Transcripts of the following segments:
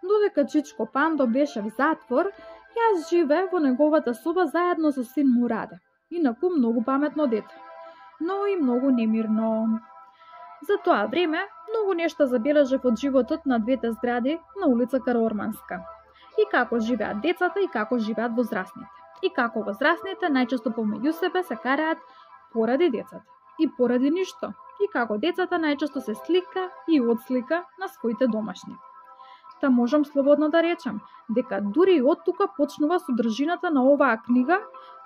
Додека Чичко Пандо беше в затвор, јас живеев во неговата соба заедно со син му Раде. Инаку многу паметно дете, но и многу немирно. За тоа време многу нешта забележав од животот на двете згради на улица Карорманска. И како живеат децата и како живеат возрастните. И како возрастните најчесто помеѓу себе се караат поради децата. И поради ништо. И како децата најчесто се слика и одслика на своите домашни. Та можам слободно да речам дека дури и од тука почнува содржината на оваа книга,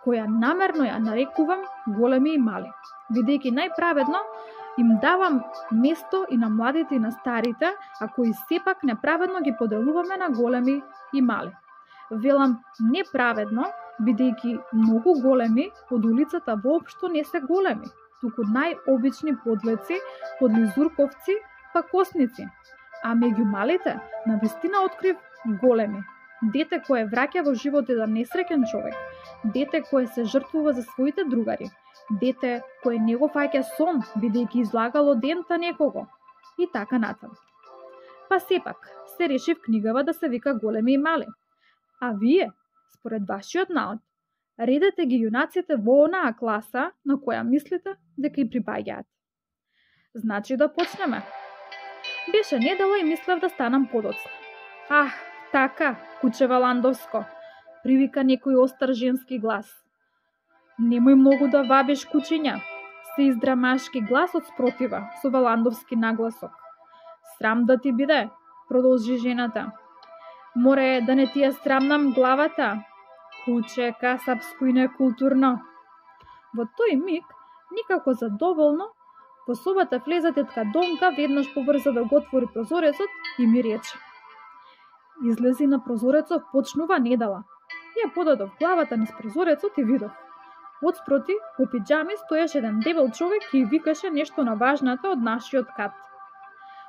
која намерно ја нарекувам Големи и мали, бидејќи најправедно им давам место и на младите и на старите, а кои сепак неправедно ги поделуваме на големи и мали. Велам неправедно, бидејќи многу големи од улицата воопшто не се големи, туку најобични подлеци, подлизурковци, па косници. А меѓу малите, навистина открив големи. Дете кое враќа во живот еден несреќен човек. Дете кое се жртвува за своите другари. Дете кое не го фаќа сон, бидејќи излагало дента некого. И така натаму. Па сепак, се решив книгава да се вика Големи и мали. А вие, според вашиот наод, редете ги јунаците во онаа класа на која мислите дека и припаѓаат. Значи да почнеме. Беше недела и мислев да станам подоцна. Ах, така, куче Валандовско, привика некој остар женски глас. Немој многу да вабиш, кучиња, се издрамашки глас од спротива со валандовски нагласок. Срам да ти биде, продолжи жената. Море да не ти ја срамнам главата, куче касапско и некултурно. Во тој миг, никако задоволно, во собата влезе тетка Донка, веднаш побрза да го отвори прозорецот и ми рече. Излези на прозорецот, почнува недела. Ја подадов главата низ прозорецот и видов. Отспроти, по пиджами, стоеше еден дебел човек и викаше нешто на важната од нашиот кат.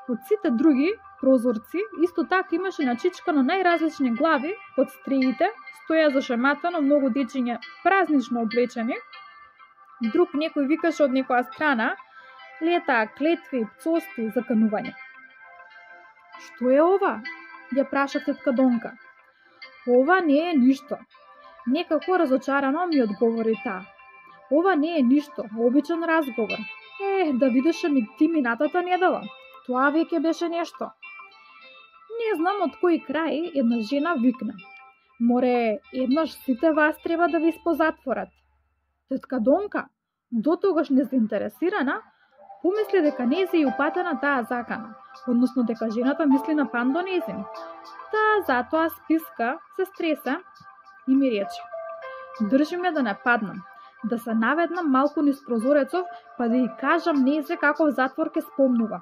Од сите други прозорци, исто така имаше начичкано најразлични глави, под стреите, стоја зашематано многу дечиња празнично облечени. Друг некој викаше од некоја страна, летаа клетви, пцости, заканување. Што е ова? Ја праша тетка Донка. Ова не е ништо. Некако разочарано ми одговори таа. Ова не е ништо, обичен разговор. Да видеше ми ти минатата недела. Тоа веќе беше нешто. Не знам од кој крај една жена викна. Море, еднаш сите вас треба да ви испозатворат. Тетка Донка, дотогаш незаинтересирана, помисли дека нејзе и упатена таа закана, односно дека жената мисли на Пандо нејзин. Таа затоа списка, се стреса и ми рече. Држи ме да не паднам, да се наведнам малку низ прозорецов, па да ја кажам нејзе каков затвор ке спомнува.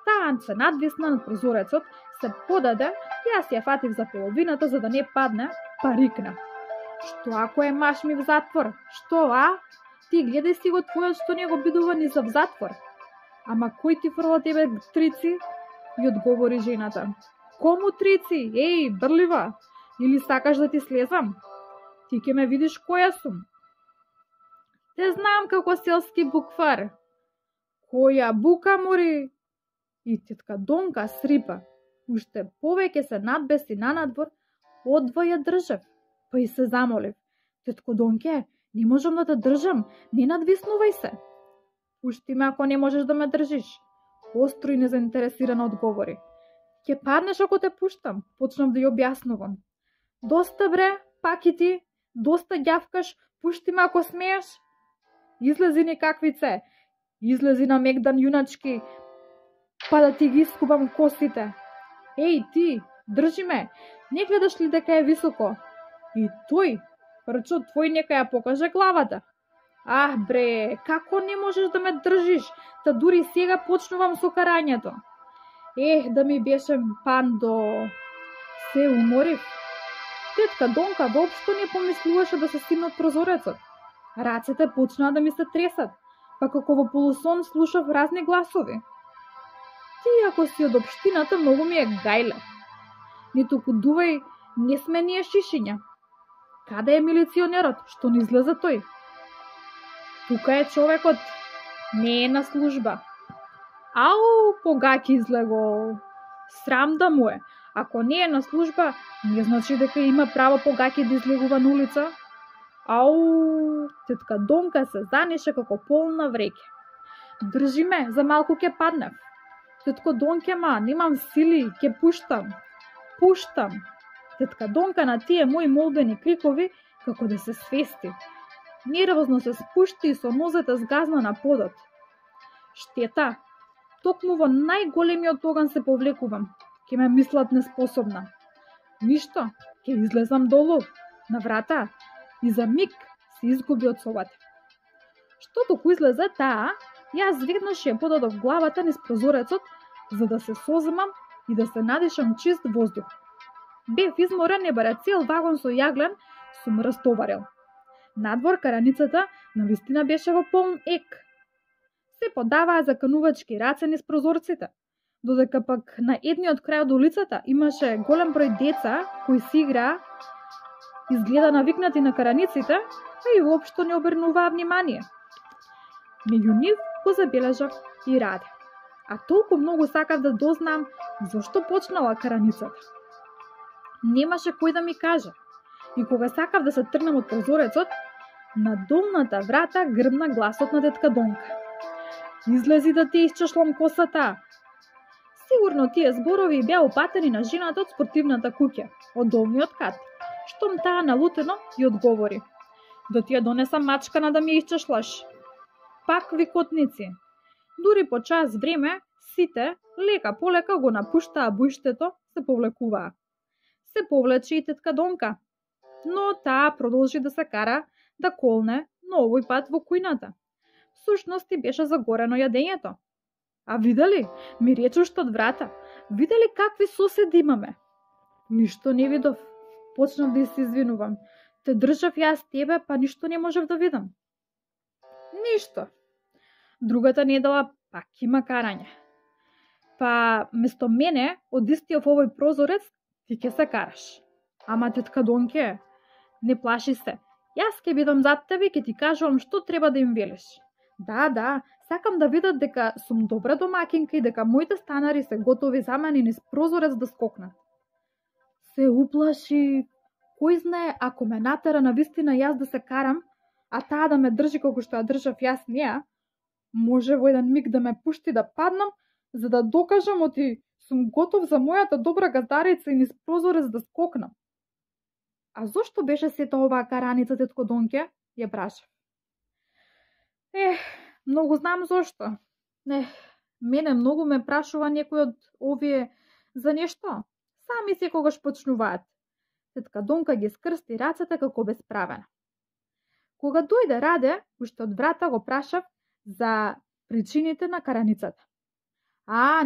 Таа се надвисна над прозорецот, се подаде, јас ја фатив за половината за да не падне, па рикна. Што ако е маш ми в затвор? Што, а? Ти гледај си го твојот што не го бидува ни за в затвор. Ама кој ти фрла тебе трици? И одговори жената. Кому трици? Еј, брлива! Или сакаш да ти слезам? Ти ќе ме видиш која сум. Те знам како селски буквар. Која бука, мори? И тетка Донка срипа. Уште повеќе се надбеси на надвор, одва ја држав. Па и се замолив. Тетко Донке, не можам да те држам, не надвиснувај се. Пушти ме ако не можеш да ме држиш. Остро и незаинтересирано одговори. Ќе паднеш ако те пуштам, почнав да ја објаснувам. Доста бре, пак и ти, доста ѓавкаш, пушти ме ако смееш. Излези некаквице, излези на мегдан јуначки, па да ти ги искубам косите. Еј ти, држи ме, не гледаш ли дека е високо? И тој, прчо твој нека ја покаже главата. Ах бре, како не можеш да ме држиш, та дури сега почнувам со карањето. Да ми беше Пандо. Се уморив. Тетка Донка воопшто не помислуваше да се стигне од прозорецот. Рацете почнаа да ми се тресат, па како во полусон слушав разни гласови. Ти ако си од општината, многу ми е гајле. Ниту кудувај, не сме ние шишиња. Каде е милиционерот? Што не излезе тој? Тука е човекот. Не е на служба. Ау, погаки излего. Срам да му е. Ако не е на служба, не значи дека има право погаќи да излегува на улица. Ау, тетка Донка се занеше како полна вреќе. Држи ме, за малку ќе паднев. Тетко Донке, немам сили, ќе пуштам. Пуштам. Тетка Донка на тие мои молбени крикови, како да се свести. Нервозно се спушти и со нозете згазна на подот. Штета, токму во најголемиот оган се повлекувам. Ке ме мислат неспособна. Ништо, ќе излезам долу, на врата, и за миг се изгуби од собата. Што току излезе таа, јас веднаш ја подадов главата низ прозорецот, за да се соземам и да се надишам чист воздух. Бев изморен и баре цел вагон со јаглен сум растоварил. Надвор караницата навистина беше во полн ек. Се подаваа заканувачки раце низ прозорците, додека пак на едниот крај од улицата имаше голем број деца кои си играа, изгледа навикнати на караниците, а и воопшто не обрнуваа внимание. Меѓу нив го забележав и Раде, а толку многу сакав да дознам зошто почнала караницата. Немаше кој да ми каже, и кога сакав да се тргнам од прозорецот, на долната врата грмна гласот на тетка Донка. Излези да ти исчешлам косата. Сигурно тие зборови беа упатени на жената од спортивната куќа, од долниот кат, штом таа налутено и одговори. Да ти ја донесам мачкана да ми исчешлаш. Пак викотници. Дури по час време, сите, лека полека го напуштаа бујштето, се повлекуваа. Се повлече и тетка Донка, но таа продолжи да се кара, да колне, но овој пат во кујната. Сушности беше загорено јадењето. А видели, ми рече што од врата, видели какви соседи имаме? Ништо не видов. Почнав да се извинувам. Те држав јас тебе, па ништо не можев да видам. Ништо. Другата недела пак има карање. Па, место мене, од истиот овој прозорец, ти ќе се караш. Ама тетка Донке, не плаши се. Јас ќе бидам зад тебе и ќе ти кажувам што треба да им велиш. Да, сакам да видат дека сум добра домакинка и дека моите станари се готови за мене низ прозорец да скокнат. Се уплаши. Кој знае, ако ме натера навистина јас да се карам, а таа да ме држи како што ја држав јас неа, може во еден миг да ме пушти да паднам, за да докажам оти сум готов за мојата добра газдарица и низ прозорец да скокнам. А зошто беше сета оваа караница, тетко Донке? Ја прашав. Многу знам зошто. Мене многу ме прашува некој од овие за нешто. Сами секогаш почнуваат. Тетка Донка ги скрсти рацете како безправена. Кога дојде Раде, уште од врата го прашав за причините на караницата.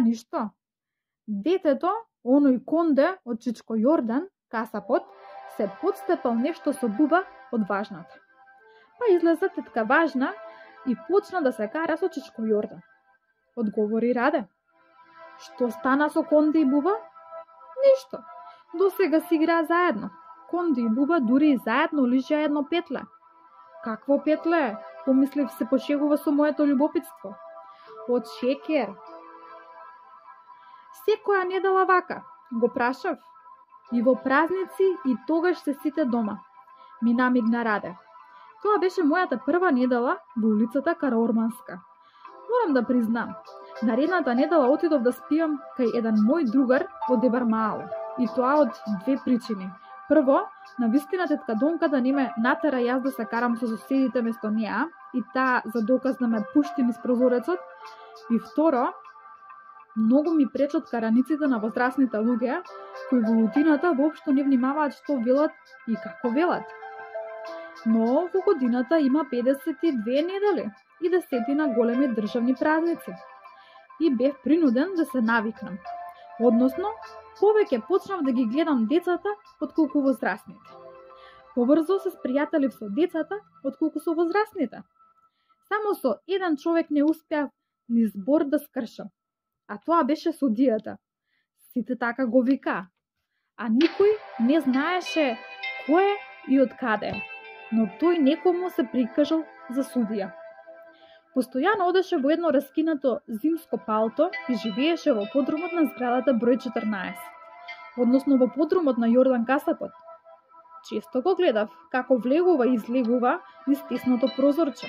Ништо. Детето, оној конде од Чичко Јордан, касапот, се подстепал нешто со буба од Важната. Па излезе тетка Важна и почна да се кара со Чичко Јордан. Одговори Раде. Што стана со Конде и буба? Ништо. До сега си играа заедно. Конде и буба дури и заедно лижеа едно петле. Какво петле? Помислив се пошегува со моето љубопитство. Од шекер. Секоја недела вака, го прашав. И во празници и тогаш се сите дома. Ми намигна Раде. Тоа беше мојата прва недела во улицата Караорманска. Морам да признам, наредната недела отидов да спиам кај еден мој другар во Дебармаало. И тоа од две причини. Прво, навистина тетка Донка да не ме натера јас да се карам со соседите место неа и таа за доказ да ме пушти низ прозорецот. И второ, многу ми пречат караниците на возрастните луѓе, кои во рутината воопшто не внимаваат што велат и како велат. Но во годината има 52 недели и 10 големи државни празници. И бев принуден да се навикнам. Односно, повеќе почнав да ги гледам децата отколку возрастните. Побрзо се спријателив со децата отколку со возрастните. Само со еден човек не успеав ни збор да скршам, а тоа беше судијата. Сите така го вика, а никој не знаеше кој и од каде, но тој некому се прикажал за судија. Постојано одеше во едно раскинато зимско палто и живееше во подрумот на зградата број 14. односно во подрумот на Јордан Касапот. Често го гледав како влегува и излегува низ тесното прозорче.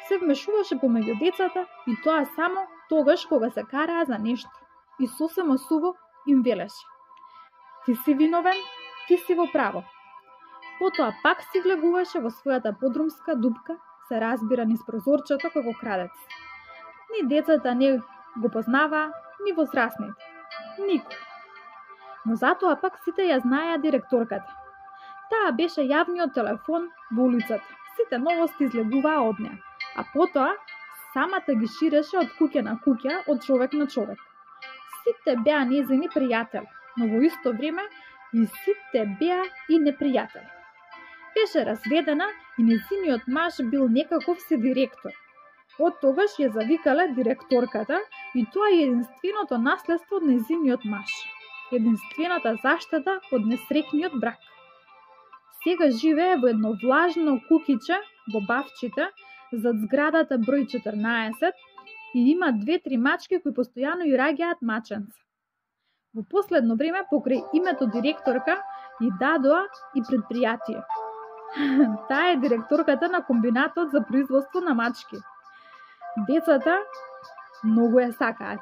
Се вмешуваше помеѓу децата и тоа само тогаш кога се караа за нешто. И сосема суво им велеше: ти си виновен, ти си во право. Потоа пак си влегуваше во својата подрумска дупка, се разбира низ прозорчето како крадец. Ни децата не го познаваа, ни возрастните. Никој. Но затоа пак сите ја знаеа директорката. Таа беше јавниот телефон во улицата. Сите новости излегуваа од неа, а потоа самата ги ширеше од куќа на куќа, од човек на човек. Сите беа нејзини пријатели, но во исто време и сите беа и непријатели. Беше разведена и нејзиниот маж бил некаков си директор. Од тогаш ја завикале директорката и тоа е единственото наследство од нејзиниот маж. Единствената заштета од несреќниот брак. Сега живее во едно влажно кукиче во Бавчите, зад зградата број 14 и има 2-3 мачки кои постојано и раѓаат маченца. Во последно време покрај името директорка и дадоа и предпријатие. Таа е директорката на комбинатот за производство на мачки. Децата многу ја сакаат.